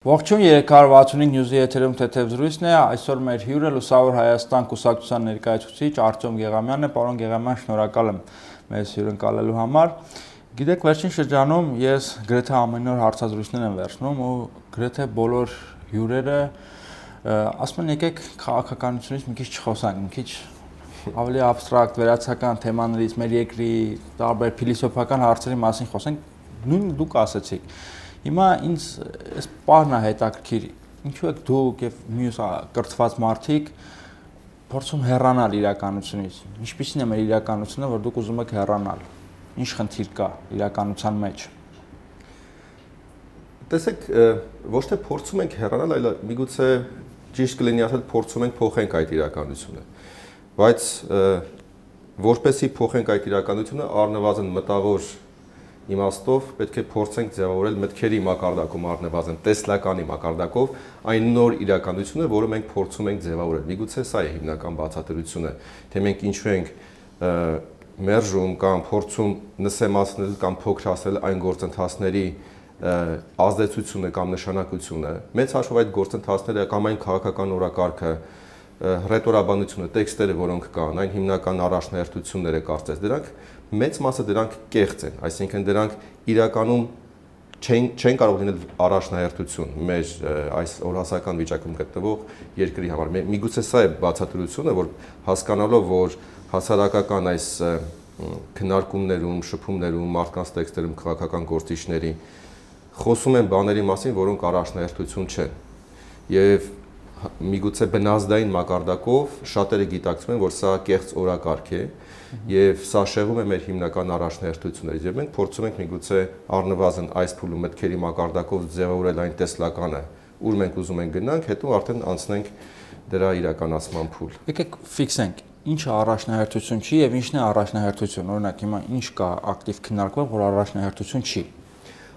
Ողջույն 365 նյուզի եթերում թեթև զրույցն է, այսօր մեր հյուրը Լուսավոր Հայաստան կուսակցության ներկայացուցիչ Արտյոմ Գեղամյանն է, պարոն Գեղամյան, շնորհակալ եմ մեզ հյուրընկալելու համար։ Գիտեք, վերջին շրջանում ես գրեթե ամեն օր հարցազրույցներ եմ վերցնում ու գրեթե բոլոր հյուրերը ասում են եկեք քաղաքականությունից մի քիչ չխոսանք, մի քիչ ավելի абստրակտ վերացական թեմաներից, մեր երկրի տարբեր փիլիսոփական հարցերի մասին խոսենք, նույն դուք ասացիք։ Հիմա ինձ այս պարն է հետաքրքիր, ինչու եք դուք եւ մյուս կրթված մարդիկ փորձում հեռանալ իրականությունից։ Ինչպիսին է մեր իրականությունը, որ դուք ուզում եք հեռանալ։ Ինչ խնդիր կա իրականության մեջ։ Տեսեք, ոչ թե փորձում ենք հեռանալ, այլ միգուցե ճիշտ կլինի ասել փորձում ենք փոխենք այդ իրականությունը։ Բայց որպեսզի փոխենք այդ իրականությունը, առնվազն մտավոր իմաստով պետք է փորձենք ձևավորել մտքերի մակարդակում առնվազն տեսլականի մակարդակով այն նոր իրականությունը, որը մենք փորձում ենք ձևավորել։ Միգուցե սա է հիմնական բացատրությունը, թե մենք ինչու ենք մերժում կամ փորձում նսեմացնել կամ փոքրացնել այն գործընթացների ազդեցությունը կամ նշանակությունը։ Մեծ հաշվով այդ գործընթացները կամ այն քաղաքական օրակարգը, ռետորաբանությունը, տեքստերը, որոնք կան, այն հիմնական առաջնահերթությունները կարծես դրանք մեծ մասը դրանք կեղծ են, այսինքն դրանք իրականում չեն կարող լինել առաջնահերթություն մեր այս օրհասական վիճակում գտնվող երկրի համար։ Միգուցե սա է բացատրությունը, որ հասկանալով, որ հասարակական այս քննարկումներում, շփումներում, մարդկանց տեքստերում քաղաքական գործիչների խոսում են բաների մասին, որոնք առաջնահերթություն չեն։ Եվ միգուցե բնազդային մակարդակով շատերը գիտակցում են, որ սա կեղծ օրակարգ է եւ սա շեղում է մեր հիմնական առաջնահերթություններից եւ մենք փորձում ենք միգուցե առնվազն այս փուլում մտքերի մակարդակով ձևավորել այն տեսլականը, ուր մենք ուզում ենք գնանք, հետո արդեն անցնենք դրա իրականացման փուլ։ Եկեք ֆիքսենք, ինչը առաջնահերթություն չի եւ ինչն է առաջնահերթություն։ Օրինակ հիմա ինչ կա ակտիվ քննարկվող, որ առաջնահերթություն չի։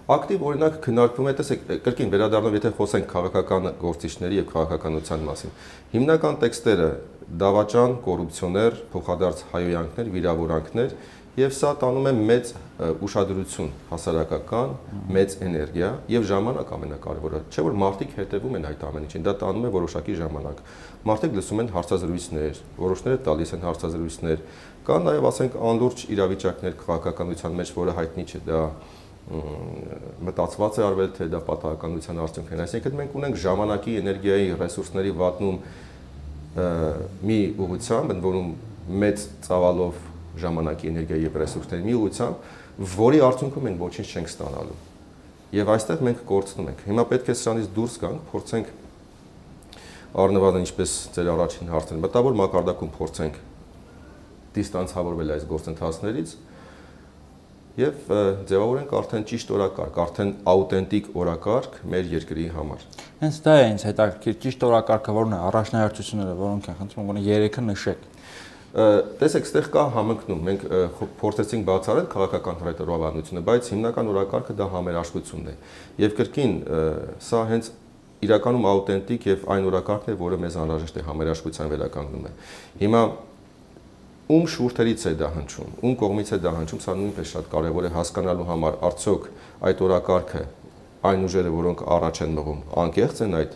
Ակտիվ օրինակ քննարկվում է, տեսեք, կրկին վերադառնալով, եթե խոսենք քաղաքական գործիչների եւ քաղաքականության մասին։ Հիմնական տեքստերը դավաճան, կոռուպցիոներ, փոխադարձ հայոյանքներ, վիրավորանքներ եւ սա տանում է մեծ ուշադրություն հասարակական, մեծ էներգիա եւ ժամանակ ամենակարևորը, չէ՞ որ մարդիկ հետևում են այդ ամեն ինչին, դա տանում է որոշակի ժամանակ։ Մարդիկ լսում են հարցազրույցներ, որոշները տալիս են հարցազրույցներ, կան նաեւ ասենք անլուրջ իրավիճակներ քաղաքականության մեջ, որը հայտնի չէ, դա մտածված է արվել, թե դա պատահականության արդյունք է։ Այսինքն մենք ունենք ժամանակի, էներգիայի, ռեսուրսների վատնում մի ուղղությամբ, ընդ որում մեծ ծավալով ժամանակի, էներգիայի եւ ռեսուրսների մի ուղղությամբ, որի արդյունքում մենք ոչինչ չենք ստանալու։ Եվ այստեղ մենք կորցնում ենք։ Հիմա պետք է սրանից դուրս գանք, փորձենք առնվազն ինչպես ձեր առաջին հարցն, մտավոր մակարդակում փորձենք դիստանցավորվել այս գործընթացներից եւ ձևավորենք արդեն ճիշտ օրակարգ, արդեն աուտենտիկ օրակարգ մեր երկրի համար։ Հենց դա է ինձ հետաքրքիր, ճիշտ օրակարգը որն է, առաջնահերթությունները, որոնք են, խնդրում եմ, երեքը նշեք։ Տեսեք, այստեղ կա համընկնում, մենք փորձեցինք բացառել քաղաքական ռետորաբանությունը, բայց հիմնական օրակարգը դա համերաշխությունն է։ Եվ կրկին սա հենց իրականում աուտենտիկ եւ այն օրակարգն է, որը մեզ անհրաժեշտ է համերաշխության վերականգնում է։ Հիմա ում շուրթերից է դա հնչում, ում կողմից է դա հնչում, սա նույնպես շատ կարևոր է հասկանալու համար, արդյոք այդ օրակարգը այն ուժերը, որոնք առաջ են մղում, անկեղծ են այդ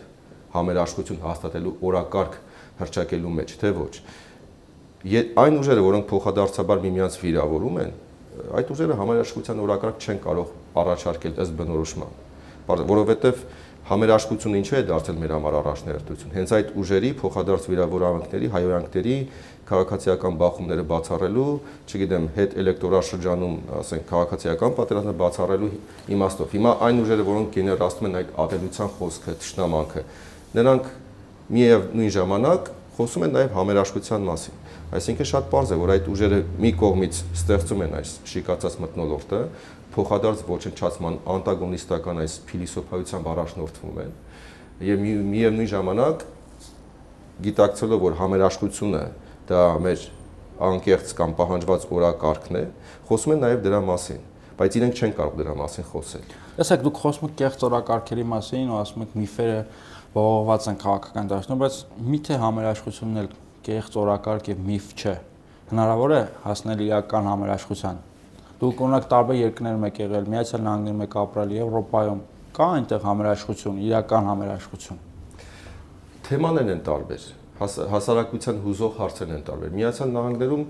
համերաշխություն հաստատելու օրակարգ հռչակելու մեջ, թե ոչ։ Այն ուժերը, որոնք փոխադարձաբար միմյանց վիրավորում են, այդ ուժերը համերաշխության օրակարգ չեն կարող առաջարկել ըստ բնորոշման, որովհետև համերաշխությունը ինչու է դարձել մեր համար առաջնահերթություն։ Հենց այդ ուժերի փոխադարձ վիրավորանքների, հայոյանքների, քաղաքացիական բախումները բացառելու, չգիտեմ, հետ էլեկտորալ շրջանում, ասենք, քաղաքացիական պատերազմը բացառելու իմաստով։ Հիմա այն ուժերը, որոնք գեներացնում են այդ ատելության խոսքը, թշնամանքը, նրանք միևնույն ժամանակ խոսում են նաև համերաշխության մասին։ Այսինքն շատ պարզ է, որ այդ ուժերը մի կողմից ստեղծում են այս շիկացած մթնոլորտը, փոխադարձ ոչնչացման անտագոնիստական այս փիլիսոփայությամբ առաջնորդվում են եւ միևնույն ժամանակ գիտակցելով, որ համերաշխությունը դա մեր անկեղծ կամ պահանջված օրակարգն է, խոսում են նաև դրա մասին, բայց իրենք չեն կարող դրա մասին խոսել։ Տեսեք, դուք խոսում եք կեղծ օրակարգերի մասին ու ասում եք միֆերը ողողված են քաղաքական դաշտում, բայց միթե համերաշխությունն էլ կեղծ օրակարգ եւ միֆ չէ։ Հնարավոր է հասնել իրական համերաշխության։ Դուք օրինակ տարբեր երկրներում եք եղել, Միացյալ Նահանգներում եք ապրել, Եվրոպայում, Կա այնտեղ համերաշխություն, իրական համերաշխություն։ Թեմաներն են տարբեր, հասարակության հուզող հարցերն են տարբեր։ Միացյալ Նահանգներում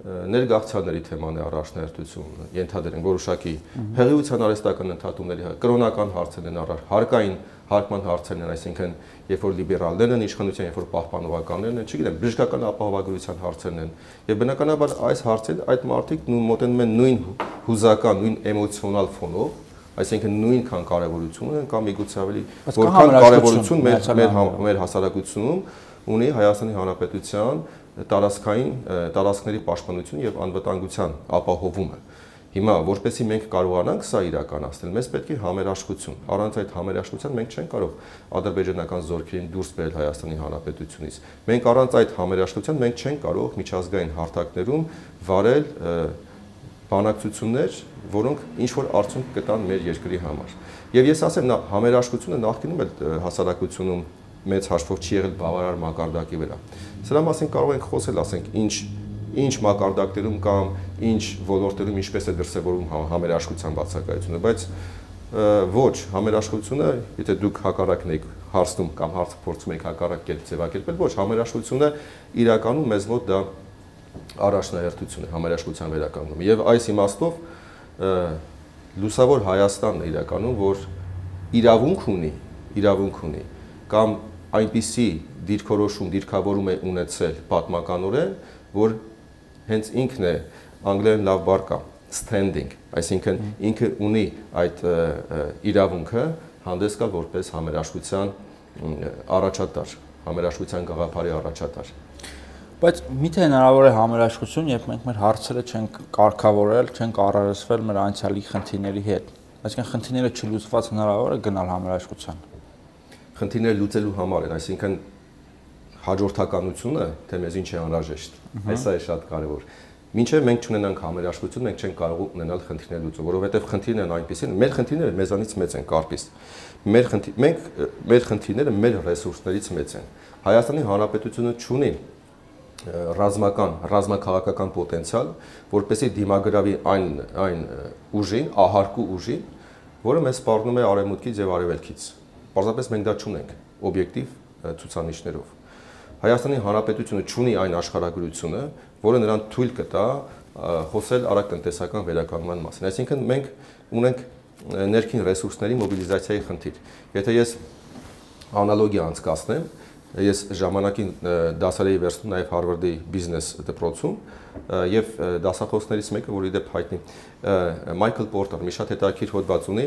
ներգաղթյալների թեման է առաջնահերթություն, ենթադրենք որոշակի հեղիության արհեստական ընդհատումների, կրոնական հարցերն են առար, հարկային հարկման հարցերն են, այսինքն երբ որ լիբերալներն են իշխանության, երբ որ պահպանողականներն են, չգիտեմ, բժշկական ապահովագրության հարցերն են, եւ բնականաբար այս հարցերը այդ մարդիկ մոտենում են նույն հուզական, նույն էմոցիոնալ ֆոնով, այսինքն նույնքան կարևորություն ունեն կամ միգուցե ավելի որքան կարևորություն մեր հասարակությունում ունի Հայաստանի Հանրապետության տարածքների պաշտպանություն եւ անվտանգության ապահովումը։ Հիմա որպեսզի մենք կարողանանք սա իրականացնել, մեզ պետք է համերաշխություն։ Առանց այդ համերաշխության մենք չենք կարող ադրբեջանական զորքերին դուրս բերել Հայաստանի Հանրապետությունից։ Մենք առանց այդ համերաշխության մենք չենք կարող միջազգային հարթակներում վարել բանակցություններ, որոնք ինչ որ արդյունք կտան մեր երկրի համար։ Եվ ես ասեմ, համերաշխությունը նախկինում էլ հասարակությունում մեծ հաշվով չի եղել բավարար մակարդակի վրա։ Սրա մասին կարող ենք խոսել, ասենք, ինչ մակարդակներում կամ ինչ ոլորտերում ինչպես է դրսևորվում համերաշխության բացակայությունը, բայց ոչ, համերաշխությունը, եթե դուք հակառակն եք հարցնում կամ հարցը փորձում եք հակառակ կերպ ձևակերպել, ոչ, համերաշխությունը իրականում մեզ մոտ դա առաջնահերթություն է համերաշխության վերականգնումը։ Եվ այս իմաստով լուսավոր Հայաստանն է իրականում, որ իրավունք ունի կամ այնպիսի դիրքավորում է ունեցել պատմականորեն, որ հենց ինքն է անգլերեն լավ բառ կա standing, այսինքն ինքը ունի այդ իրավունքը հանդես գալ որպես համերաշխության առաջատար, համերաշխության գաղափարի առաջատար։ Բայց միթե հնարավոր է համերաշխություն, երբ մենք մեր հարցերը չենք կարգավորել, չենք առերեսվել մեր անցյալի խնդիրների հետ։ Այսինքն խնդիրները չլուծված հնարավոր է գնալ համերաշխության։ Խնդիրները լուծելու համար են, այսինքն հաջորդականությունը, թե մեզ ինչ է անհրաժեշտ։ Այս է շատ կարևոր։ Մինչև մենք չունենանք համերաշխություն, մենք չենք կարող ունենալ խնդիրներ լուծում, որովհետև խնդիրներն այնպեսին են, մեր խնդիրները մեզանից մեծ են, կարպիս։ Մեր խնդիրները մեր ռեսուրսներից մեծ են։ Հայաստանի Հանրապետությունը չունի ռազմաքաղաքական պոտենցիալ, որպեսզի դիմագրավի այն ուժին, ահարկու ուժին, որը մեզ սպառնում է արևմուտքից եւ արևելքից։ Պարզապես մենք դա չունենք օբյեկտիվ ցուցանիշներով։ Հայաստանի Հանրապետությունը չունի այն աշխարհագրությունը, որը նրան թույլ կտա խոսել արագ տնտեսական վերականգնման մասին։ Այսինքն մենք ունենք ներքին ռեսուրսների մոբիլիզացիայի խնդիր։ Եթե ես անալոգիա անցկացնեմ, ես ժամանակին դասեր էի վերցնում նաև Հարվարդի բիզնես դպրոցում եւ դասախոսներից մեկը, որ իդեպ հայտնի Մայքլ Պորտեր, մի շատ հետաքրքիր հոդված ունի,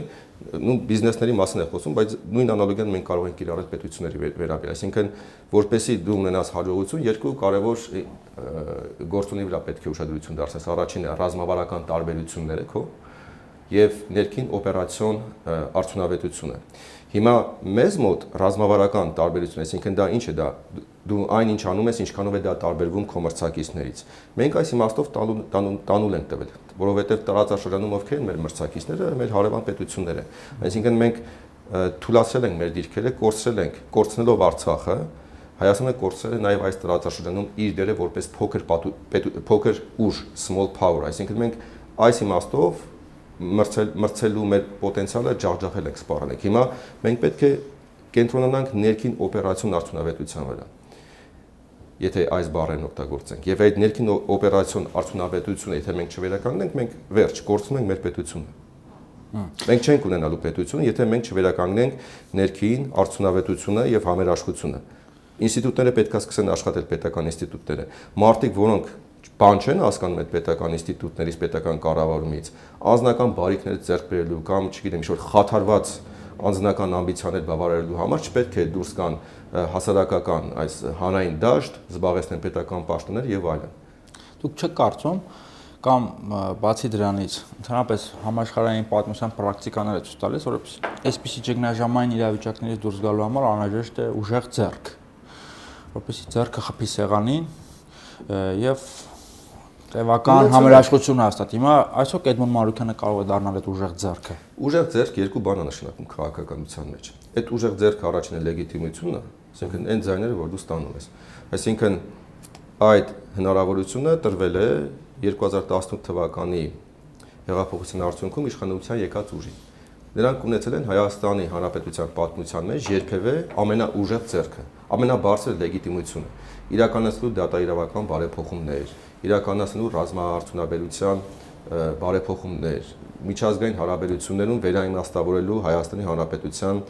բիզնեսների մասին է խոսում, բայց նույն անալոգիան մենք կարող ենք կիրառել պետությունների վերաբերյալ, այսինքն որպեսզի դու ունենաս հաջողություն, երկու կարևոր գործոնի վրա պետք է ուշադրություն դարձնես։ Առաջինը ռազմավարական տարբերությունները քո եւ ներքին օպերացիոն արդյունավետությունը։ Հիմա մեզ մոտ ռազմավարական տարբերություն, այսինքն դա ինչ է դա, դու այն ինչ անում ես, ինչքանով է դա տարբերվում քո մրցակիցներից։ Մենք այս իմաստով տանուլ ենք տվել, որովհետև տարածաշրջանում ովքեր են մեր մրցակիցները, մեր հարևան պետությունները։ Այսինքն մենք թուլացրել ենք մեր դիրքերը, կորցնելով Արցախը, Հայաստանը կորցրել է նաև այս տարածաշրջանում իր դերը որպես փոքր ուժ, small power, այսինքն մենք այս իմաստով մրցելու մեր պոտենցիալը ջախջախել ենք, սպառել ենք։ Հիմա մենք պետք է կենտրոնանանք ներքին օպերացիոն արդյունավետության վրա, եթե այս բառերն օգտագործենք։ Եվ այդ ներքին օպերացիոն արդյունավետությունը, եթե մենք չվերականգնենք, մենք վերջ կորցնում ենք մեր պետությունը։ Մենք չենք ունենալու պետություն, եթե մենք չվերականգնենք ներքին արդյունավետությունը եւ համերաշխությունը։ Ինստիտուտները պետք է սկսեն աշխատել, պետական ինստիտուտները։ Մարդիկ, որոնք բան չեն հասկանում այդ պետական ինստիտուտներից, պետական կառավարումից, անձնական բարիքներ ձեռք բերելու կամ, չգիտեմ, ինչ-որ խաթարված անձնական ամբիցիաներ բավարարելու համար չպետք է դուրս գան հասարակական այս հանրային դաշտ, զբաղեցնեն պետական պաշտոններ եւ այլն։ Դուք չեք կարծում կամ բացի դրանից, ընդհանրապես համաշխարհային պատմության պրակտիկաները ցույց տալիս, որ այսպիսի ճգնաժամային իրավիճակներից դուրս գալու համար անհրաժեշտ է ուժեղ ձեռք, որպեսզի ձեռքը խփի սեղանին եւ տևական համերաշխություն հաստատ։ Հիմա այսօր Էդմոն Մանուկյանը կարող է դառնալ այդ ուժեղ ձեռքը։ Ուժեղ ձեռք երկու բան է նշանակում քաղաքականության մեջ։ Այդ ուժեղ ձեռքը առաջինը լեգիտիմությունը, այսինքն այն ձայները, որ դու ստանում ես։ Այսինքն այդ հնարավորությունը տրվել է 2018 թվականի հեղափոխության արդյունքում իշխանության եկած ուժին։ նրանք ունեցել են Հայաստանի Հանրապետության պատմության մեջ երբևէ ամենաուժեղ ձեռքը, ամենաբարձր լեգիտիմությունը, իրականացնելու դատաիրավական բարեփոխումներ, իրականացնելու ռազմաարդյունաբերության բարեփոխումներ, միջազգային հարաբերություններում վերաիմաստավորելու Հայաստանի Հանրապետության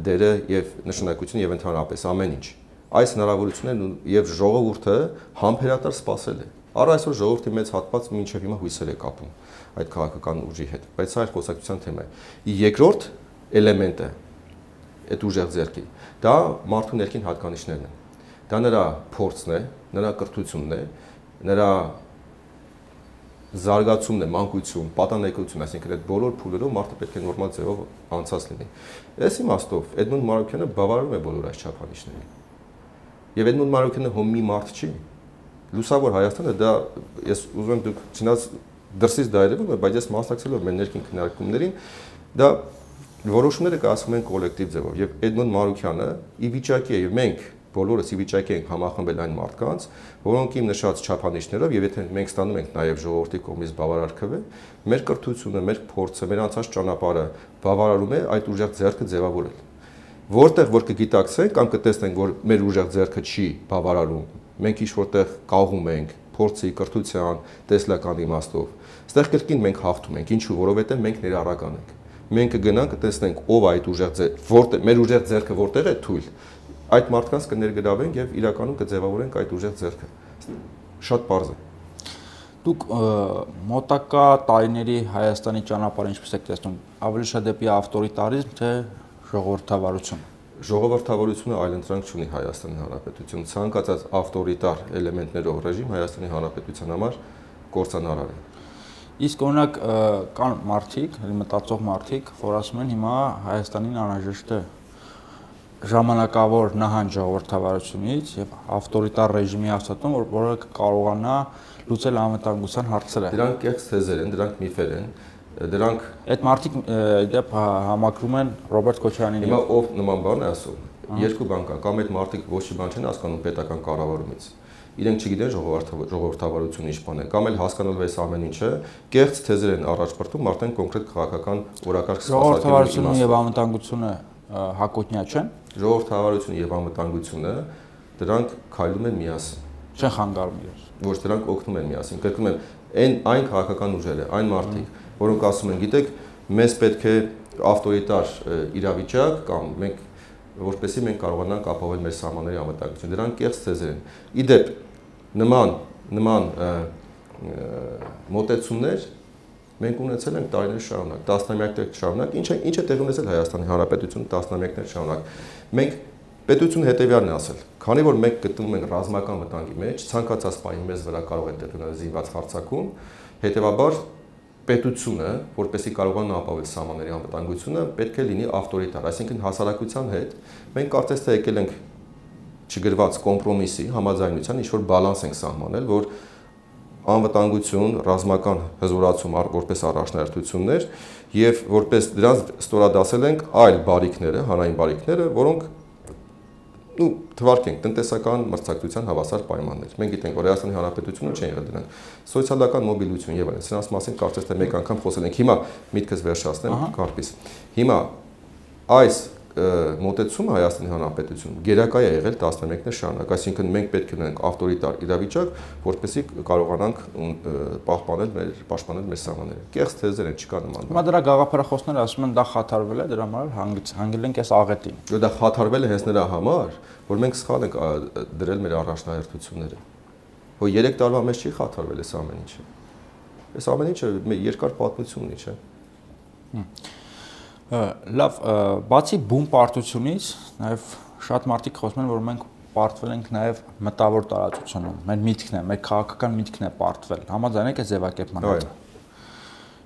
դերը եւ նշանակությունը եւ ընդհանրապես ամեն ինչ։ Այս հնարավորություններն եւ ժողովուրդը համբերատար սպասել է։ Առ այսօր ժողովրդի մեծ հատված մինչև հիմա հույսեր է կապում այդ քաղաքական ուժի հետ, բայց սա այլ խոսակցության թեմա է։ Երկրորդ էլեմենտը այդ ուժեղ ձեռքի, դա մարդու ներքին հատկանիշներն են։ Դա նրա փորձն է, նրա կրթությունն է, նրա զարգացումն է, մանկություն, պատանեկություն, այսինքն այդ բոլոր փուլերով մարդը պետք է նորմալ ձևով անցած լինի։ Այս իմաստով Էդմոնդ Մարուկյանը բավարարում է բոլոր այս չափանիշներին։ Եվ Էդմոնդ Մարուկյանը հոմ մի մարդ չի։ Լուսավոր Հայաստանը դա ես ուզում եմ դուք չնայած դրսից դա երևում է, բայց ես մասնակցելով մեր ներքին քննարկումներին դա որոշումները կայացվում են կոլեկտիվ ձևով եւ Էդմոնդ Մարուկյանը ի վիճակի է եւ մենք բոլորս ի վիճակի ենք համախմբել այն մարդկանց, որոնք իմ նշած չափանիշներով եւ եթե մենք ստանում ենք նաեւ ժողովրդի կողմից բավարար քվե, մեր կրթությունը, մեր փորձը, մեր անցած ճանապարհը բավարարում է այդ ուժեղ ձեռքը ձևավորել։ Որտեղ որ կգիտակցենք կամ կտեսնենք, որ մեր ուժեղ ձեռքը չի բավարարում, մենք ինչ որտեղ կաղում ենք, փորձի, կրթության, տեսլական իմաստով, այստեղ կրկին մենք հաղթում ենք, ինչու, որովհետեւ մենք ներառական ենք։ Մենք կգնանք կտեսնենք ով այդ ուժեղ ձեռքը, որտեղ մեր ուժեղ ձեռքը որտեղ է թույլ, այդ մարդկանց կներգրավենք եւ իրականում կձևավորենք այդ ուժեղ ձեռքը։ Շատ པարզ է։ Դուք մոտակա տարիների Հայաստանի ճանապարհը ինչպես եք տեսնում, ավելի շատ դեպի ավտորիտարիզմ, թե ժողովրդավարություն։ Ժողովրդավարությունը այլընտրանք չունի Հայաստանի Հանրապետություն, ցանկացած ավտորիտար էլեմենտներով ռեժիմ Հայաստանի Հանրապետության համար կործանարար է։ Իսկ օրինակ կան մարդիկ, մտածող մարդիկ, որ ասում են հիմա Հայաստանին անհրաժեշտ է ժամանակավոր նահանջ ժողովրդավարությունից եւ ավտորիտար ռեժիմի հաստատում, որը կարողանա լուծել անվտանգության հարցերը։ Դրանք կեղծ թեզեր են, դրանք միֆեր են, դրանք այդ մարդիկ դեպ համակրում են Ռոբերտ Քոչարյանին։ Հիմա ով նման բան է ասում։ Երկու բան կա, կամ այդ մարդիկ ոչ մի բան չեն հասկանում պետական կառավարումից։ Իրենք չգիտեն ժողովրդավարությունը ինչ բան է, կամ էլ հասկանալու այս ամեն ինչը կեղծ թեզեր են առաջ բերում արդեն կոնկրետ քաղաքական օրակարգ ժողովրդավարությունը եւ անվտանգությունը հակոտնյա չեն։ Ժողովրդավարությունը եւ անվտանգությունը դրանք քայլում են միասին։ Չեն խանգարում իրար։ Ոչ, դրանք օգնում են միասին։ Կրկնում եմ, այն քաղաքական ուժերը, այն մարդիկ, որոնք ասում են, գիտեք, մեզ պետք է ավտորիտար իրավիճակ կամ մենք որպեսզի մենք կարողանանք ապահովել մեր սահմանների անվտանգությունը։ Դրանք կեղծ թեզեր են։ Իդեպ նման մոտեցումներ մենք ունեցել ենք տարիներ շարունակ, տասնամյակներ շարունակ, ինչ է տեղի ունեցել Հայաստանի Հանրապետությունում տասնամյակներ շարունակ։ Մենք պետությունը հետևյալն է ասել, քանի որ մենք գտնվում ենք ռազմական վտանգի մեջ, ցանկացած պահի մեզ վրա կարող է տեղի ունենալ զինված հարձակում, հետևաբար պետությունը, որպեսզի կարողանա ապահովել սահմանների անվտանգությունը, պետք է լինի ավտորիտար, այսինքն հասարակության հետ մենք կարծես թե եկել ենք չգրված կոմպրոմիսի, համաձայնության ինչ-որ բալանս ենք սահմանել, որ անվտանգություն, ռազմական հզորացում որպես առաջնահերթություններ եւ որպես դրանց ստորադասել ենք այլ բարիքները, հանրային բարիքները, որոնք թվարկենք տնտեսական մրցակցության հավասար պայմաններ։ Մենք գիտենք, որ Հայաստանի Հանրապետությունը չեն եղել դրանք։ Սոցիալական մոբիլություն եւ այլն։ Սրանց մասին կարծես թե մեկ անգամ խոսել ենք։ Հիմա միտքս վերջացնեմ, կարպիս։ Հիմա այս մոտեցումը Հայաստանի Հանրապետությունում գերակա է եղել տասնամյակներ շարունակ, այսինքն մենք պետք է ունենանք ավտորիտար իրավիճակ, որպեսզի կարողանանք պաշտպանել մեր սահմանները։ Կեղծ թեզեր են, չկա նման։ Հիմա դրա գաղափարախոսները ասում են դա խաթարվել է, դրա համար հանգել ենք այս աղետին։ Դա խաթարվել է հենց նրա համար, որ մենք սխալ ենք դրել մեր առաջնահերթությունները։ Որ 3 տարվա մեջ չի խաթարվել այս ամեն ինչը։ Այս ամեն ինչը երկար պատմություն ունի, չէ՞։ Լավ, բացի բուն պարտությունից, նաև շատ մարդիկ խոսում են, որ մենք պարտվել ենք նաև մտավոր տարածությունում։ Մեր միտքն է, մեր քաղաքական միտքն է պարտվել։ Համաձայն եք այս ձևակերպման հետ։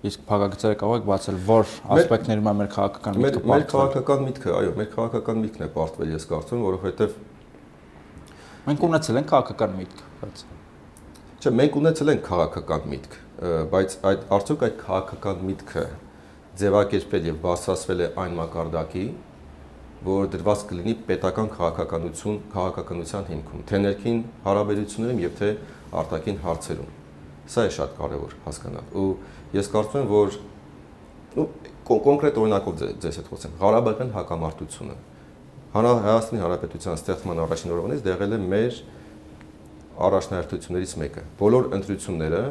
Իսկ փակագծերը կարող եք բացել, որ ասպեկտներում է մեր քաղաքական միտքը պարտվել։ Մեր քաղաքական միտքը, այո, մեր քաղաքական միտքն է պարտվել, ես կարծում եմ, որովհետև մենք ունեցել ենք քաղաքական միտք, բայց չէ, մենք ունեցել ենք քաղաքական միտք, բայց արդյոք այդ քաղաքական միտքը ձևակերպել եւ բարձրացվել է այն մակարդակի, որ դրված կլինի պետական քաղաքականության հիմքում, թե ներքին հարաբերություններում եւ թե արտաքին հարցերում։ Սա է շատ կարեւոր հասկանալ։ Ու ես կարծում եմ, որ կոնկրետ օրինակով ձեզ հետ խոսեմ։ Ղարաբաղյան հակամարտությունը Հայաստանի Հանրապետության ստեղծման առաջին օրվանից եղել է մեր առաջնահերթություններից մեկը։ Բոլոր ընտրությունները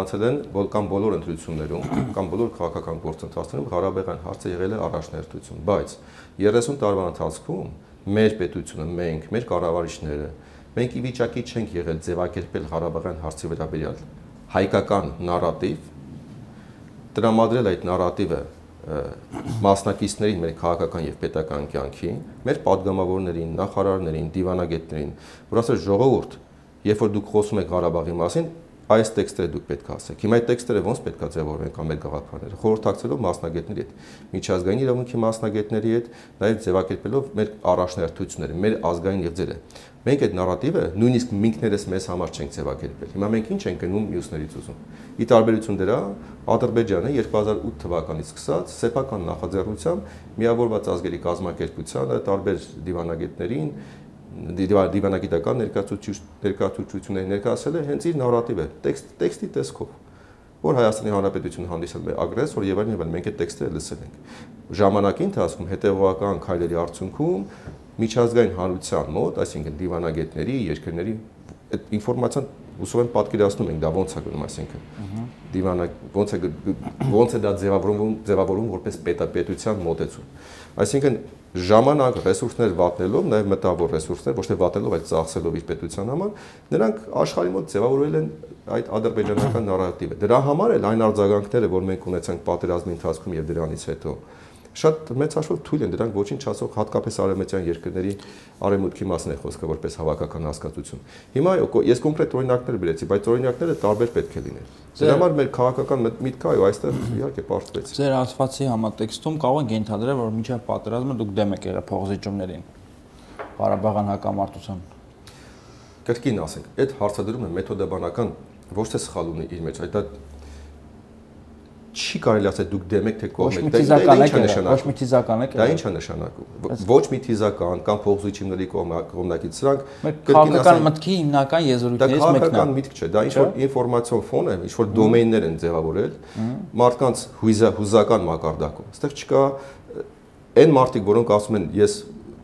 անցել են կամ բոլոր ընտրություններում կամ բոլոր քաղաքական գործընթացներում Ղարաբաղյան հարցը եղել է առաջնահերթություն, բայց 30 տարվա ընթացքում մեր պետությունը, մենք, մեր կառավարիչները, մենք ի վիճակի չենք եղել ձևակերպել Ղարաբաղյան հարցի վերաբերյալ հայկական նարատիվ, տրամադրել այդ նարատիվը մասնակիցներին մեր քաղաքական եւ պետական կյանքին, մեր падգամավորներին, նախարարներին, դիվանագետներին, որ ասել ժողովուրդ, երբ որ դուք խոսում եք Ղարաբաղի մասին, այս տեքստերը դուք պետք է ասեք։ Հիմա այդ տեքստերը ոնց պետք է ձևավորվեն կամ մեր գաղափարները, խորհրդակցելով մասնագետների հետ, միջազգային իրավունքի մասնագետների հետ, նաեւ ձևակերպելով մեր առաջնահերթությունները, մեր ազգային եղձերը։ Մենք այդ նարատիվը նույնիսկ ինքներս մեզ համար չենք ձևակերպել։ Հիմա մենք ինչ ենք գնում մյուսներից ուզում։ Ի տարբերություն դրա, Ադրբեջանը 2008 թվականից սկսած սեփական նախաձեռնությամբ միավորված ազգերի կազմակերպությանը, տարբեր դիվանագետներին, դիվանագիտական ներկայացուցիչների ներկայացել է հենց իր նարատիվը, տեքստի տեսքով, որ Հայաստանի Հանրապետությունը հանդիսանում է ագրեսոր եւ այլն, մենք այդ տեքստերը լսել ենք։ Ժամանակի ընթացքում հետեւողական քայլերի արդյունքում միջազգային հանրության մոտ, այսինքն դիվանագետների, երկրների այդ ինֆորմացիան ուսով են պատկերացնում ենք դա ոնց է գնում, այսինքն ոնց է դա ձևավորվում որպես պետության մոտեցում։ Այսինքն ժամանակ ռեսուրսներ վատնելով, նաև մտավոր ռեսուրսներ, ոչ թե վատնելով, այլ ծախսելով իր պետության համար, նրանք աշխարհի մոտ ձևավորել են այդ ադրբեջանական նարատիվը։ Դրա համար էլ այն արձագանքները, որ մենք ունեցանք պատերազմի ընթացքում եւ դրանից հետո, շատ մեծ հաշվով թույլ են, դրանք ոչինչ չասող հատկապես արևմտյան երկրների արևմուտքի մասին է խոսքը որպես հավաքական հասկացություն։ Հիմա ես կոնկրետ օրինակներ բերեցի, բայց օրինակները տարբեր պետք է լինեն։ Դրա համար մեր քաղաքական միտքը այո, այստեղ իհարկե պարտվեց։ Ձեր ասվածի համատեքստում կարող ենք ենթադրել, որ մինչև պատերազմը դուք դեմ եք եղել փոխզիջումներին Ղարաբաղյան հակամարտության։ Կրկին ասենք, այդ հարցադրումը մեթոդաբանական ոչ թե սխալ ունի իր մեջ, այդ չի կարելի ասել դուք դեմ եք թե կողմ եք, ոչ մի թիզական եք։ Դա ինչ է նշանակում։ Ոչ մի թիզական կամ փոխզիջումների կողմնակից սրանք քաղաքական մտքի հիմնական եզրույթներից մեկն է։ Դա քաղաքական միտք չէ, դա ինչ որ ինֆորմացիոն ֆոն է, ինչ որ դոմեյններ են ձևավորել մարդկանց հուզական մակարդակում։ Այստեղ չկա այն մարդիկ, որոնք ասում են ես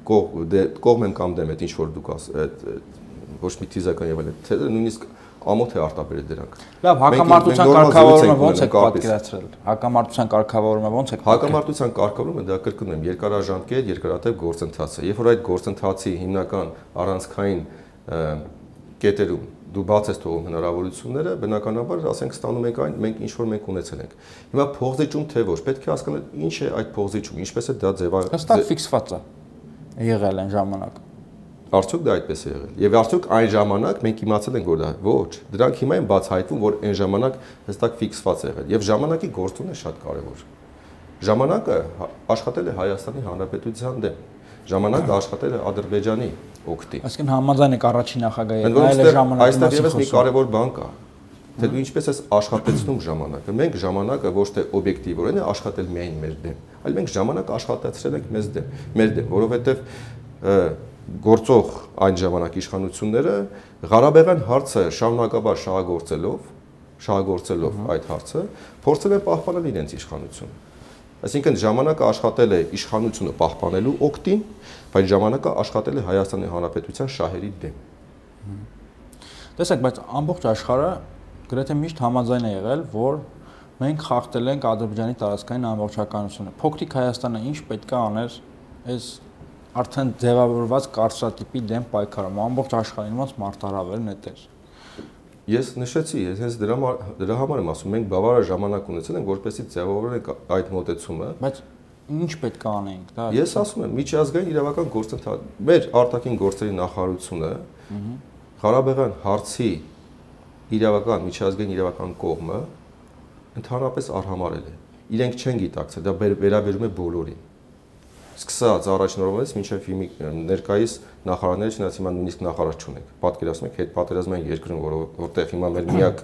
կողմ եմ կամ դեմ եմ, ինչ որ դուք ոչ մի թիզական եւ այլն, թե նույնիսկ ամոթ է արտաբերել դրանք։ Լավ, հակամարտության կարգավորումը ոնց է պատկերացրել։ Հակամարտության կարգավորումը ոնց է։ Հակամարտության կարգավորումը դա կրկնում եմ, երկարաժամկետ, երկարատև գործընթաց է։ Երբ որ այդ գործընթացի հիմնական առանցքային կետերում դու բաց ես թողում հնարավորությունները, բնականաբար ասենք ստանում եք այն, մենք ինչ որ մենք ունեցել ենք։ Հիմա փոխզիջում թե ոչ, պետք է հասկանալ ինչ է այդ փոխզիջումը, ինչպես է դա ձևավորվում։ Հստակ ֆիքսված է եղել այն ժամանակ։ Արդյոք դա այդպես է եղել։ Եվ արդյոք այն ժամանակ մենք իմացել ենք, որ դա ոչ, դրանք հիմա են բացահայտվում, որ այն ժամանակ հստակ ֆիքսված է եղել։ Եվ ժամանակի գործունեությունը շատ կարևոր։ Ժամանակը աշխատել է Հայաստանի Հանրապետության դեմ։ Ժամանակը աշխատել է Ադրբեջանի օգտին։ Այսինքն համաձայն եք առաջին նախագահի հետ, այլ ժամանակի այստեղ եւս մի կարևոր բան կա։ Թե դու ինչպես ես աշխատեցնում ժամանակը։ Մենք ժամանակը ոչ թե օբյեկտիվորեն է աշխատել միայն մեր դեմ, այլ մենք ժամանակը աշխատացրել ենք մեր դեմ, որովհետեւ գործող այն ժամանակ իշխանությունները Ղարաբաղյան հարցը շարունակաբար շահագործելով այդ հարցը փորձել են պահպանել իրենց իշխանությունը։ Այսինքն ժամանակը աշխատել է իշխանությունը պահպանելու օգտին, բայց ժամանակը աշխատել է Հայաստանի Հանրապետության շահերի դեմ։ Տեսեք, բայց ամբողջ աշխարհը գրեթե միշտ համաձայն է եղել, որ մենք խախտել ենք Ադրբեջանի տարածքային ամբողջականությունը։ Փոքրիկ Հայաստանը ինչ պետք է աներ այս արդեն ձևավորված կարծրատիպի դեմ պայքարում, ամբողջ աշխարհին ոնց մարտահրավերն է տեր։ Ես նշեցի, ես հենց դրա համար եմ ասում, մենք բավարար ժամանակ ունեցել ենք, որպեսզի ձևավորենք այդ մոտեցումը։ Բայց ինչ պետք է անենք, դա։ Ես ասում եմ, միջազգային իրավական գործընթաց, մեր արտաքին գործերի նախարարությունը Ղարաբաղյան հարցի իրավական, միջազգային իրավական կողմը ընդհանրապես արհամարել է։ Իրենք չեն գիտակցել, դա վերաբերում է բոլորին։ Սկսած առաջին օրվանից մինչև ներկայիս նախարարները, չնայած հիմա նույնիսկ նախարար չունենք։ Պատկերացնում եք հետպատերազմային երկրում, որտեղ հիմա մեր միակ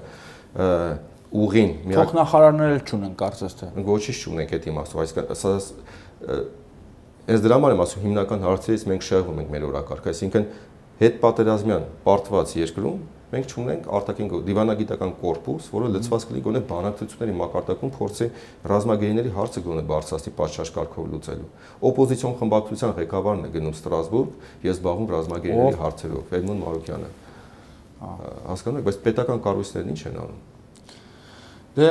ուղին, միակ փոխնախարարներ էլ չունեն, կարծես թե։ Ոչինչ չունենք այդ իմաստով, այսինքն այս դրա համար եմ ասում, հիմնական հարցերից մենք շեղվում ենք մեր օրակարգը, այսինքն հետպատերազմյան պարտված երկրում մենք չունենք արտաքին դիվանագիտական կորպուս, որը լցված կլինի գոնե բանակցությունների մակարդակում փորձի ռազմագերիների հարցը գոնե բարձրացնի պատշաճ կարգով լուծելու։ Օպոզիցիոն խմբակցության ղեկավարն է գնում Ստրասբուրգ, ես զբաղվում ռազմագերիների հարցերով, Էդմոն Մարուկյանը։ Հասկանում եք, բայց պետական կառույցներն ինչ են անում։ Դե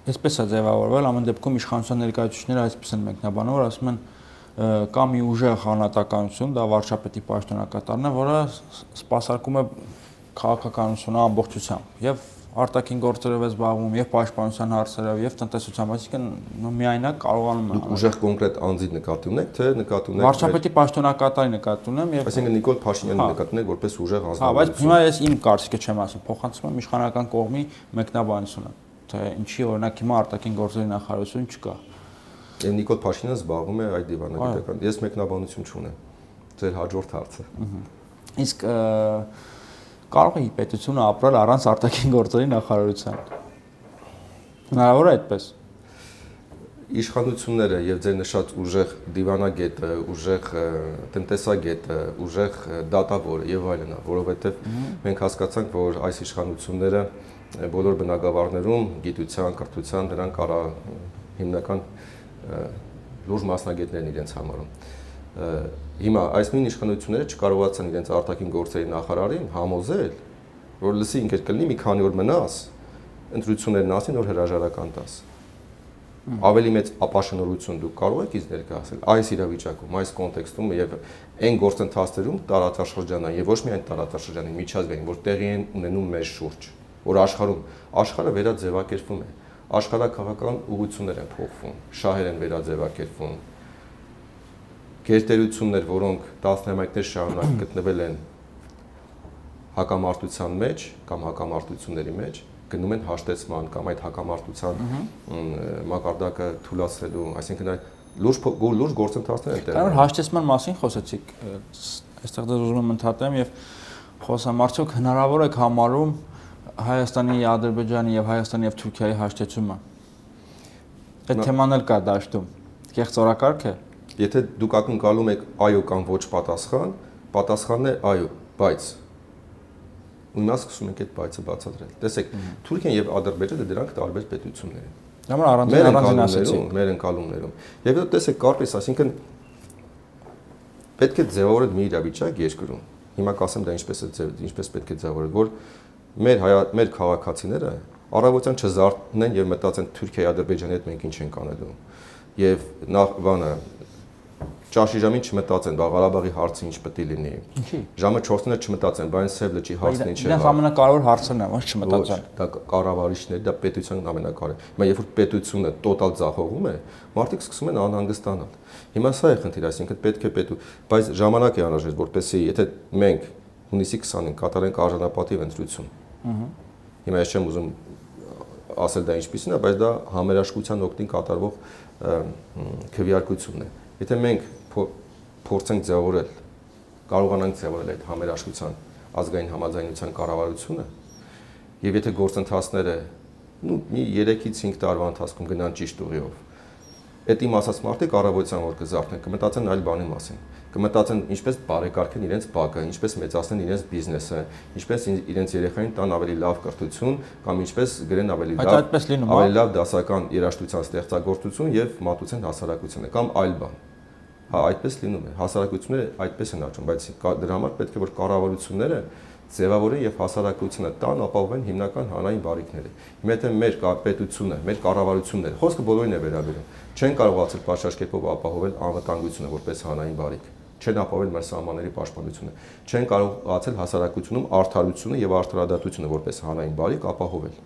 այսպես է ձևավորվել, ամեն դեպքում իշխանության ներկայացուցիչները այսպես են մեկնաբանում, որ ասում են կա մի ուժեղ հանրատականություն, դա վարչապետի պաշտոնակատարն է, որը սպասարկում է քաղաքականությունը ամբողջությամբ եւ արտաքին գործերով է զբաղվում, եւ պաշտպանության հարցերով, եւ տնտեսությամբ, այսինքն միայնակ կարողանում է։ Դուք ուժեղ կոնկրետ անձի նկատի ունեք, թե նկատի ունեք վարչապետի պաշտոնակատարի նկատի ունեմ եւ այսինքն Նիկոլ Փաշինյանի նկատի ունեք որպես ուժեղ անձնավորություն։ Հա, բայց հիմա ես իմ կարծիքը չեմ ասում, փոխանցում եմ իշխանական կողմի մեկնաբանությունը, թե ինչի օրինակ հիմա արտաքին գործերի նախարարություն չկա։ Եվ Նիկոլ Փաշինյանը զբաղվում է այդ դիվանագիտական։ Ես մեկնաբանություն չունեմ։ Ձեր հաջորդ հարցը։ Իսկ կարող է պետությունը ապրել առանց արտաքին գործերի նախարարության։ Հնարավոր է այդպես։ Իշխանությունները եւ ձեր նշած ուժեղ դիվանագետը, ուժեղ տնտեսագետը, ուժեղ դատավորը եւ այլն, որովհետեւ մենք հասկացանք, որ այս իշխանությունները բոլոր բնակավարներում գիտության, կրթության դրանք հիմնական լուրջ մասնագետներն իրենց համարում։ Հիմա այս նույն իշխանությունները չկարողացան իրենց արտաքին գործերի նախարարին համոզել, որ լսի ինքդ կլինի մի քանի օր մնաս, ընտրություններն ասին, որ հրաժարական տաս։ Ավելի մեծ ապաշնորհություն դուք կարող եք ինձ ներկայացնել այս իրավիճակում, այս կոնտեքստում եւ այն գործընթացներում տարածաշրջանային եւ ոչ միայն տարածաշրջանային միջազգային, որ տեղի են ունենում մեր շուրջ, որ աշխարհը վերաձևակերպվում է, աշխարհակաղակական ուղղություններ են փոխվում, շահեր են վերաձևակերպվում, գերտերություններ, որոնք տասնամյակներ շարունակ գտնվել են հակամարտության մեջ կամ հակամարտությունների մեջ, գնում են հաշտեցման կամ այդ հակամարտության մակարդակը թույլատրելու, այսինքն լուրջ գործընթացներ են տեղի ունենում։ Հաշտեցման մասին խոսեցիք, այստեղ դեռ ուզում եմ ընդհատեմ եւ խոսամ, արդյոք հնարավոր է համարում Հայաստանի, Ադրբեջանի եւ Հայաստանի եւ Թուրքիայի հաշտեցումը։ Այդ թեման էլ կա դաշտում։ Կեղծ օրակարգ է։ Եթե դուք ակնկալում եք այո կամ ոչ պատասխան, պատասխանն է այո, բայց Հիմա սկսում ենք այդ բայցը բացատրել։ Տեսեք, Թուրքիան եւ Ադրբեջանը դրանք տարբեր պետություններ են։ Դրա առանձին ասեցիք։ Մեր ընկալումներում։ Եվ հետո տեսեք, կարպես, այսինքն պետք է ձևավորել մի իրավիճակ երկրում։ Հիմա կասեմ դա ինչպես պետք է ձևավորել, որ մեր քաղաքացիները առավոտյան չզարթնեն եւ մտածեն Թուրքիայի Ադրբեջանի հետ մենք ինչ ենք անելու։ Եվ նախ բանը Ճաշի ժամին չմտածեն, բա Ղարաբաղի հարցը ինչ պետք է լինի։ Ինչի։ Ժամը 4-ը չմտածեն, բա այն Սև լճի հարցն ինչ է։ Դա ամենակարևոր հարցն է, ոչ չմտածեն։ Դա կառավարիչներ, դա պետության ամենակարևոր։ Հիմա երբ որ պետությունը տոտալ ձախողում է, մարդիկ սկսում են անհանգստանալ։ Հիմա սա է խնդիրը, այսինքն պետք է բայց ժամանակ է անհրաժեշտ, որպեսզի եթե մենք հունիսի 20-ին կատարենք արժանապատիվ ընտրություն։ Հիմա ես չեմ ուզում ասել դա ինչպիսին է, բայց դա համերաշխության օգտին կատարվող քվեարկություն է։ Եթե մենք փորձենք ձևավորել, կարողանանք ձևավորել այդ համերաշխության ազգային համաձայնության կառավարությունը, եւ եթե գործընթացները մի 3-ից 5 տարվա ընթացքում գնան ճիշտ ուղիով, այդ իմ ասած մարդիկ առավոտյան որ կզարթնեն, կմտածեն այլ բանի մասին, կմտածեն ինչպես բարեկարգեն իրենց բակը, ինչպես մեծացնեն իրենց բիզնեսը, ինչպես իրենց երեխային տան ավելի լավ կրթություն կամ ինչպես գրեն ավելի լավ դասական երաժշտության ստեղծագործություն եւ մատուցեն հասարակությանը կամ այլ բան։ Հա, այդպես լինում է։ Հասարակությունները այդպես են աճում, բայց դրա համար պետք է որ կառավարությունները ձևավորեն եւ հասարակությունը տան ապահովեն հիմնական հանրային բարիքները։ Հիմա եթե մեր պետությունը, մեր կառավարությունները, խոսքը բոլորին է վերաբերում, չեն կարողացել պատշաճ կերպով ապահովել անվտանգությունը որպես հանրային բարիք, չեն ապահովել մեր սահմանների պաշտպանությունը, չեն կարողացել հասարակությունում արդարությունը եւ արդարադատությունը որպես հանրային բարիք ապահովել։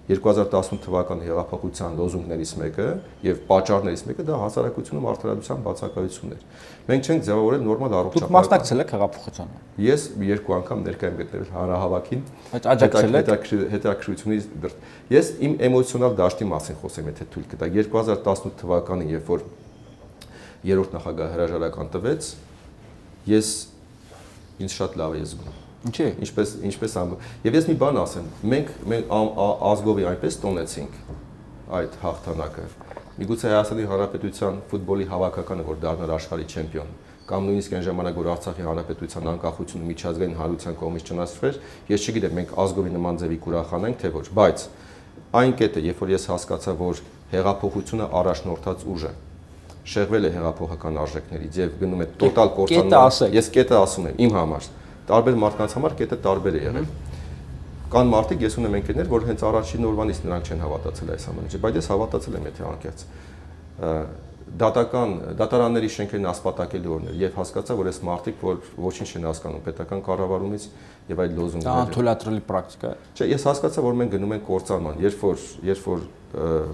2018 թվականի հեղափոխության լոզունգներից մեկը եւ պատճառներից մեկը դա հասարակությունում արդարադատության բացակայությունն էր։ Մենք չենք ձևավորել նորմալ առողջապահ։ Դուք մասնակցել եք հեղափոխությանը։ Ես 2 անգամ ներկայ եմ գտնվել հանրահավաքին։ Բայց աջակցել եք հետաքրքրությունից դեռ։ Ես իմ էմոցիոնալ դաշտի մասին խոսեմ, եթե թույլ կտա։ 2018 թվականին, երբ որ երրորդ նախագահ հրաժարական տվեց, ես ինձ շատ լավ եմ զգում։ Ինչի՞։ Ինչպես եւ ես մի բան ասեմ, մենք ազգովի այնպես տոնեցինք այդ հաղթանակը։ Միգուցե Հայաստանի Հանրապետության ֆուտբոլի հավաքականը, որ դառնար աշխարհի չեմպիոն, կամ նույնիսկ այն ժամանակ որ Արցախի հանրապետության անկախությունը միջազգային հանրության կողմից ճանաչվեր, ես չգիտեմ մենք ազգովի նման ձևի կուրախանենք թե ոչ, բայց այն կետը, երբ որ ես հասկացա, որ հեղափոխությունը առաջնորդած ուժ է, շեղվել է հեղափոխական արժեքներից եւ գնում է տոտալ կործանման, ես կետը ասում եմ իմ համար, տարբեր մարդկանց համար կետը տարբեր է եղել։ Կան մարդիկ, ես ունեմ ընկերներ, որ հենց առաջին օրվանից նրանք չեն հավատացել այս ամենին, բայց ես հավատացել եմ, եթե անկեղծ։ Դատարանների շենքերն ասպատակելի օրներ եւ հասկացա, որ այս մարդիկ, որ ոչինչ չեն հասկանում պետական կառավարումից եւ այդ լոզունգները։ Դա անթույլատրելի պրակտիկա է։ Չէ, ես հասկացա, որ մենք գնում ենք կործանման, երբ որ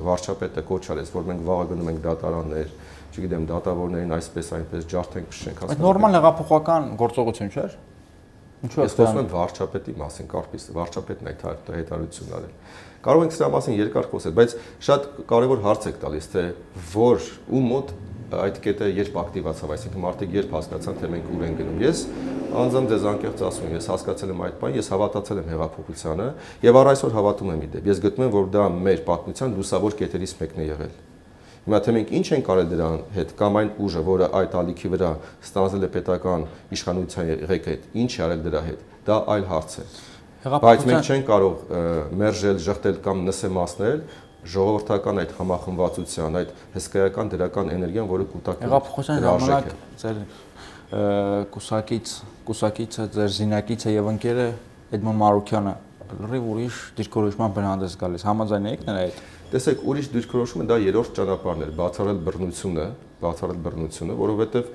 վարչապետը կոչ արեց, որ մենք վաղը գնում ենք դատարաններ, չգիտեմ, դատավորներին այսպես այնպես ջարդենք, փշենք, հասկանանք։ Այդ նորմալ հեղափոխական գործողություն չէ՞։ Ինչու է ես խոսում եմ վարչապետի մասին, կարծես վարչապետն այդ հայտարարությունն արել։ Կարող ենք սրա մասին երկար խոսել, բայց շատ կարևոր հարց եք տալիս, թե որ ու մոտ այդ կետը երբ ակտիվացավ, այսինքն մարդիկ երբ հասկացան, թե մենք ուր ենք գնում։ Ես անձամբ ձեզ անկեղծ ասում եմ, ես հասկացել եմ այդ բանը, ես հավատացել եմ հեղափոխությանը եւ առ այսօր հավատում եմ իդեպ։ Ես գտնում եմ, որ դա մեր պատմության լուսավոր կետերից մեկն է եղել։ Հիմա թե մենք ինչ ենք արել դրան հետ կամ այն ուժը, որը այդ ալիքի վրա ստանձնել է պետական իշխանության ղեկը հետ, ինչ է արել դրա հետ, դա այլ հարց է։ Բայց մենք չենք կարող մերժել, ժխտել կամ նսեմացնել ժողովրդական այդ համախմբվածության, այդ հսկայական դրական էներգիան, որը կուտակում է։ Հեղափոխության ժամանակ ձեր կուսակիցը, ձեր զինակիցը եւ ընկերը Էդմոն Մարուկյանը լրիվ ուրիշ դիրքորոշման բնանդես գալիս։ Համաձայն եք նրա հետ։ Տեսեք, ուրիշ դիրքորոշումը դա երրորդ ճանապարհն էր, բացառել բռնությունը, որովհետեւ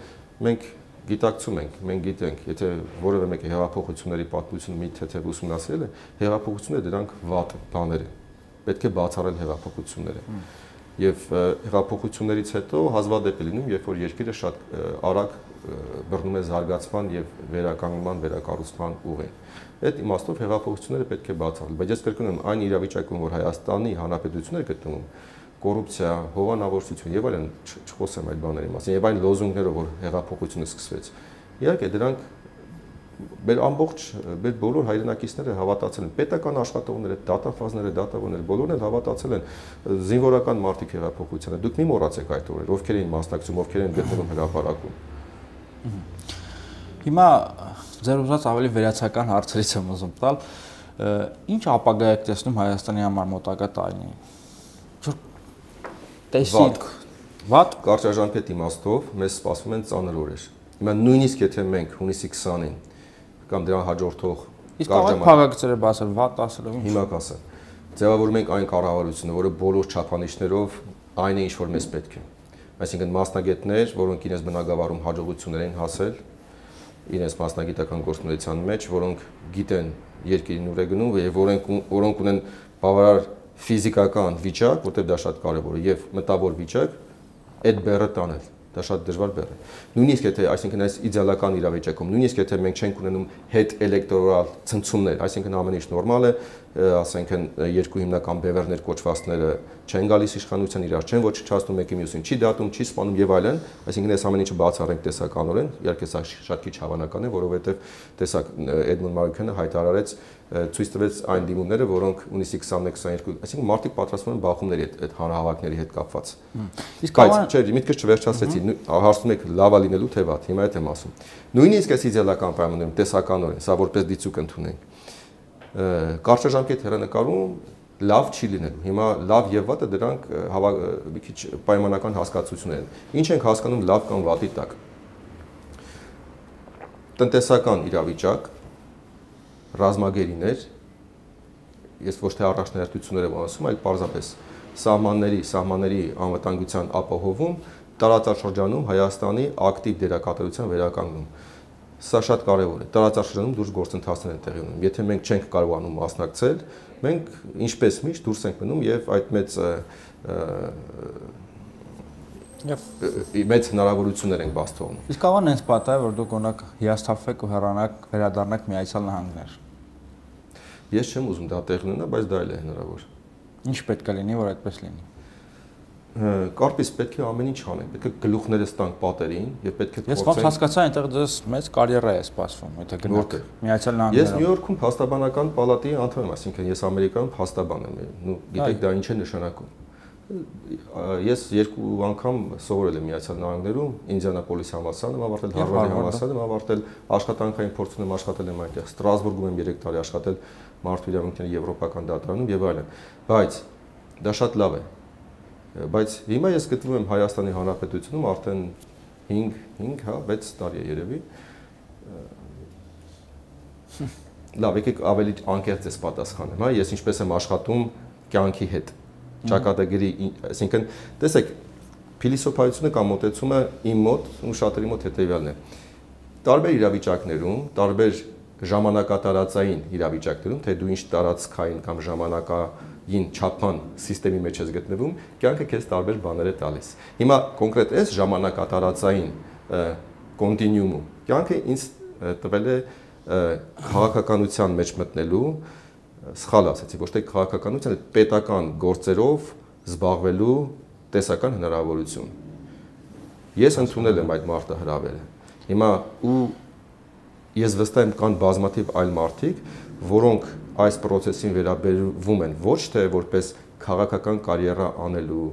մենք գիտակցում ենք, մենք գիտենք, եթե որևէ մեկը հեղափոխությունների պատմությունը մի թեթև ուսումնասիրել է, հեղափոխությունները դրանք վատ բաներ են։ Պետք է բացառել հեղափոխությունները։ Եվ հեղափոխություններից հետո հազվադեպ է լինում, երբ որ երկիրը շատ արագ բռնում է զարգացման եւ վերականգնման, վերակառուցման ուղին։ Այդ իմաստով հեղափոխությունները պետք է բացառել, բայց ես կրկնում եմ, այն իրավիճակում, որ Հայաստանի Հանրապետությունն է գտնվում, կոռուպցիա, հովանավորություն եւ այլն, չխոսեմ այդ բաների մասին, եւ այն լոզունգներով, որ հեղափոխությունը սկսվեց։ Իհարկե դրանք մեր ամբողջ մեր բոլոր հայրենակիցները հավատացել են, պետական աշխատողները, դատավորները, բոլորն էլ հավատացել են զինվորական մարդիկ հեղափոխությանը։ Դուք մի մոռացեք այդ օրերը, ովքեր էին մասնակցում, ովքեր էին գտնվում հրապարակում։ Հիմա ձեր ուզած ավելի վերացական հարցերից եմ ուզում տալ, ինչ ապագա եք տեսնում Հայաստանի համար մոտակա տարիներին։ Վատ կարճաժամկետ իմաստով մեզ սպասվում են ծանր օրեր։ Հիմա նույնիսկ եթե մենք հունիսի 20-ին կամ դրան հաջորդող փակագծերը բացել, վատ ասելով ինչ։ Հիմա կասեմ։ Ձևավորում ենք այն կառավարությունը, որը բոլոր չափանիշներով այն է, ինչ որ մեզ պետք է։ Այսինքն մասնագետներ, որոնք իրենց բնակավարում հաջողություններ են հասել, իրենց մասնագիտական գործունեության մեջ, որոնք գիտեն երկիրին ուր է գնում եւ որոնք ունեն բավարար ֆիզիկական վիճակ, որտեղ դա շատ կարևոր է, եւ մտավոր վիճակ, այդ բեռը տանել, դա շատ դժվար բեռ է։ Նույնիսկ եթե, այսինքն այս իդեալական իրավիճակում, նույնիսկ եթե մենք չենք ունենում հետ էլեկտորալ ցնցումներ, այսինքն ամեն ինչ նորմալ է, ասենք երկու հիմնական բևեռներ կոչվածները չեն գալիս իշխանության իրար, չեն ոչնչացնում մեկի մյուսին, չի դատում, չի սպանում եւ այլն, այսինքն այս ամեն ինչը բացառենք տեսականորեն, իհարկե սա շատ քիչ հավանական է, որովհետեւ տեսակ Էդմոն Մարուկյանը հայտարարեց ցույց տվեց այն դիմումները, որոնք հունիսի 21-22, այսինքն մարդիկ պատրաստվում են բախումների այդ հանրահավաքների հետ կապված։ Բայց չէ, միտքս չվերջացրեցի, հարցնում եք լավա լինելու թե վատ, հիմա այդ եմ ասում։ Նույնիսկ այս իդեալական պայմաններում տեսականորեն, սա որպես դիցուկ ընդունենք։ Կարճաժամկետ հեռանկարում լավ չի լինելու։ Հիմա լավ եւ վատը դրանք մի քիչ պայմանական հասկացություններ են։ Ինչ ենք հասկանում լավ կամ վատի տակ։ Տնտեսական իրավիճակ, ռազմագերիներ, ես ոչ թե առաջնահերթություններ եմ ասում, այլ պարզապես սահմանների անվտանգության ապահովում, տարածաշրջանում Հայաստանի ակտիվ դերակատարության վերականգնում։ Սա շատ կարևոր է։ Տարածաշրջանում դուրս գործընթացներ են տեղի ունենում։ Եթե մենք չենք կարողանում մասնակցել, մենք ինչպես միշտ դուրս ենք մնում եւ այդ մեծ հնարավորություններ ենք բաց թողնում։ Իսկ աղան հենց պատահ է, որ դուք օրինակ հիասթափվեք ու հեռանաք, վերադառնաք Միացյալ Նահանգներ։ Ես չեմ ուզում դա տեղի ունենա, բայց դա էլ է հնարավոր։ Ինչ պետք է լինի, որ այդպես լինի։ Կարծես պետք է ամեն ինչ անենք, պետք է գլուխները ստանք պատերին եւ պետք է փորձենք։ Ես ոնց հասկացա, այնտեղ դες մեծ կարիերա է սպասվում, եթե գնաք Միացյալ Նահանգներում։ Ես Նյու Յորքում փաստաբանական պալատի անդամ եմ, այսինքն ես Ամերիկայում փաստաբան եմ, գիտեք դա ինչ է նշանակում։ Ես երկու անգամ սովորել եմ Միացյալ Նահանգներում, Ինդիանապոլիսի համալսարանում եմ ավարտել, Հարվարդի համալսարանում եմ ավարտել, աշխատանքային փորձ ունեմ, աշխատել եմ այնտեղ, Ստրասբուրգում եմ 3 տարի աշխատել մարդու իրավունքների եվրոպական դատարանում եւ այլն։ Բայց դա շատ լավ է։ Բայց հիմա ես գտնվում եմ Հայաստանի Հանրապետությունում արդեն 6 տարի է երևի։ Լավ, եկեք ավելի անկեղծ ես պատասխանեմ, հա, ես ինչպես եմ աշխատում կյանքի հետ։ Ճակատագրի, այսինքն, տեսեք, փիլիսոփայությունը կամ մոտեցումը իմ մոտ ու շատերի մոտ հետևյալն է։ Տարբեր իրավիճակներում, տարբեր ժամանակատարածային իրավիճակներում, թե դու ինչ տարածքային կամ ժամանակային չափան համակարգի մեջ ես գտնվում, կյանքը քեզ տարբեր բաներ է տալիս։ Հիմա կոնկրետ այս ժամանակատարածային կոնտինյուումում կյանքը ինձ տվել է քաղաքականության մեջ մտնելու, սխալ ասացի, ոչ թե քաղաքականության, այլ պետական գործերով զբաղվելու տեսական հնարավորություն։ Ես ընդունել եմ այդ մարտահրավերը։ Հիմա ու ես վստահ եմ կան բազմաթիվ այլ մարդիկ, որոնք այս process-ին վերաբերվում են ոչ թե որպես քաղաքական կարիերա անելու,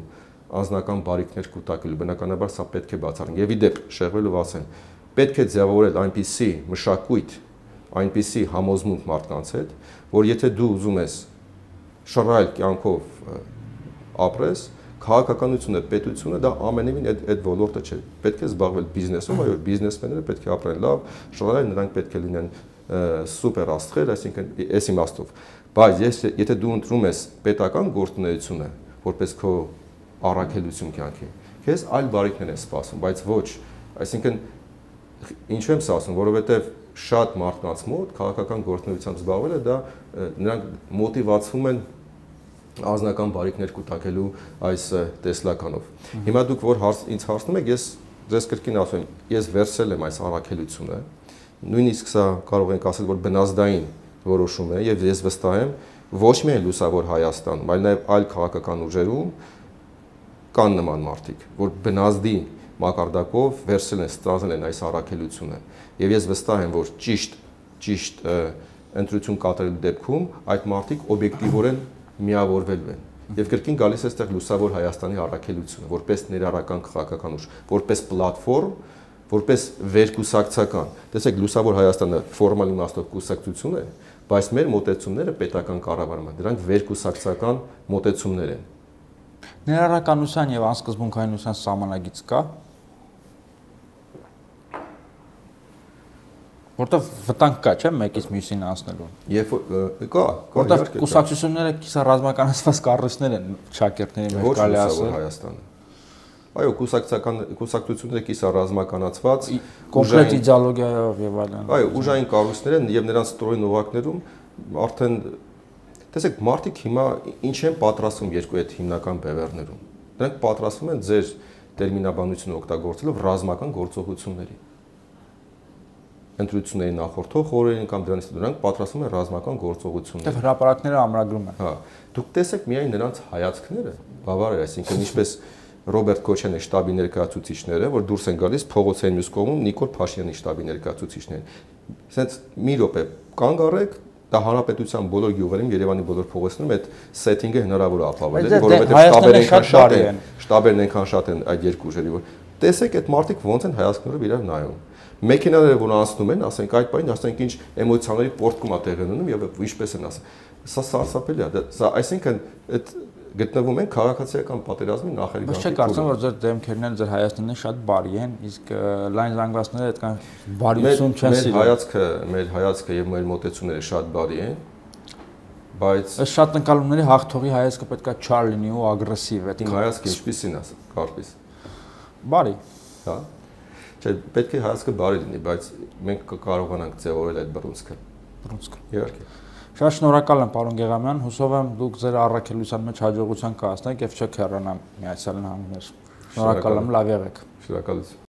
անձնական բարիքներ կուտակելու, բնականաբար սա պետք է բացառենք։ Եվ ի դեպ, շեղվելով ասեն, պետք է ձևավորել այնպիսի մշակույթ, այնպիսի համոզմունք մարդկանց հետ, որ եթե դու ուզում ես շռայլ կյանքով ապրես, քաղաքականությունը, պետությունը դա ամենևին այդ ոլորտը չէ։ Պետք է զբաղվել բիզնեսով, այո, բիզնեսմենները պետք է ապրեն լավ, շռայլ, նրանք պետք է լինեն սուպեր աստղեր, այսինքն այս իմաստով։ Բայց եթե դու ընտրում ես պետական գործունեությունը որպես քո առաքելություն կյանքի, քեզ այլ բարիքներ են սպասում, բայց ոչ, այսինքն ինչու եմ սա ասում, որովհետև շատ մարդկանց մոտ քաղաքական գործունեությամբ զբաղվելը դա նրանք մոտիվացվում են անձնական բարիքներ կուտակելու այս տեսլականով։ Հիմա դուք որ ինձ հարցնում եք, ես ձեզ կրկին ասում եմ, ես վերցրել եմ այս առաքելությունը, նույնիսկ սա կարող ենք ասել, որ բնազդային որոշում է եւ ես վստահ եմ ոչ միայն լուսավոր Հայաստանում, այլ նաեւ այլ քաղաքական ուժերում կան նման մարդիկ, որ բնազդի մակարդակով վերցրել են, ստանձնել են այս առաքելությունը եւ ես վստահ եմ, որ ճիշտ ընտրություն կատարելու դեպքում այդ մարդիկ օբյեկտիվորեն միավորվելու են եւ կրկին գալիս է այստեղ լուսավոր Հայաստանի առաքելությունը որպես ներառական քաղաքական ուժ, որպես պլատֆորմ, որպես վերկուսակցական։ Տեսեք, լուսավոր Հայաստանը ֆորմալ իմաստով կուսակցություն է, բայց մեր մոտեցումները պետական կառավարման, դրանք վերկուսակցական մոտեցումներ են։ Ներառականության եւ անսկզբունքայնության սահմանագիծ կա։ Որտեվ վտանգ կա, չէ՞, մեկից մյուսին անցնելու։ Երբ կա, որտեվ կուսակցությունները կիսա ռազմականացված կառույցներ են շակերտների մեջ կարելի ասել Հայաստանը։ Այո, կուսակցությունները կիսա ռազմականացված, կոնկրետ իդեոլոգիայով եւ այլն։ Այո, ուժային կառույցներ են եւ նրանց ստորին օղակներում արդեն տեսեք, մարդիկ հիմա ինչ են պատրաստվում երկու այդ հիմնական բևեռներում։ Նրանք պատրաստվում են ձեր տերմինաբանությունը օգտագործելով ռազմական գործողությունների։ Ընտրությունների նախորդող օրերին կամ դրանից դրանք պատրաստվում են ռազմական գործողություններ։ Դեռ հրապարակները ամրագրում են։ Հա, դուք տեսեք միայն նրանց հայացքները, բավարար է, այսինքն ինչպես Ռոբերտ Քոչյանի շտաբի ներկայացուցիչները, որ դուրս են գալիս փողոցային մյուս կողմում Նիկոլ Փաշինյանի շտաբի ներկայացուցիչներն։ Սենց մի րոպե կանգ առեք, դա հանրապետության բոլոր գյուղերում, Երևանի բոլոր փողոցներում այդ սեթինգը հնարավոր է ապահովել, որովհետև շտաբերն այնքան շատ են այդ երկու ուժերի, որ տեսեք այդ մարդիկ ոնց են հայացքներով իրար նայում։ Մեքենաները որ անցնում են, ասենք այդ պայն, ասենք ինչ էմոցիաների պորտկում է տեղի ունենում եւ ինչպես են ասում։ Սա սարսափելի է։ Սա այսինքն այդ գտնվում են քաղաքացիական պատերազմի նախերգանքի։ Բայց չեք կարծում, որ ձեր դեմքերն են, ձեր հայացքներն շատ բարի են, իսկ լայն զանգվածները այդքան բարիություն չեն սիրում։ Մեր հայացքը եւ մեր մոտեցումները շատ բարի են, բայց այս շատ ընկալումների հաղթողի հայացքը պետքա չար լինի ու ագրեսիվ։ Իմ հայացքը ինչպիսին է, կարծես։ Բարի։ Հա։ Չէ, պետք է հայացքը բարի լինի, բայց մենք կարողանանք ձևավորել այդ բռունցքը։ Բռունցքը։ Իհարկե։ Շատ շնորհակալ եմ, պարոն Գեղամյան, հուսով եմ դուք ձեր առաքելության մեջ հաջողության կհասնեք եւ չեք հեռանա Միացյալ Նահանգներ։ Շնորհակալ եմ, լավ եղեք։ Շնորհակալություն։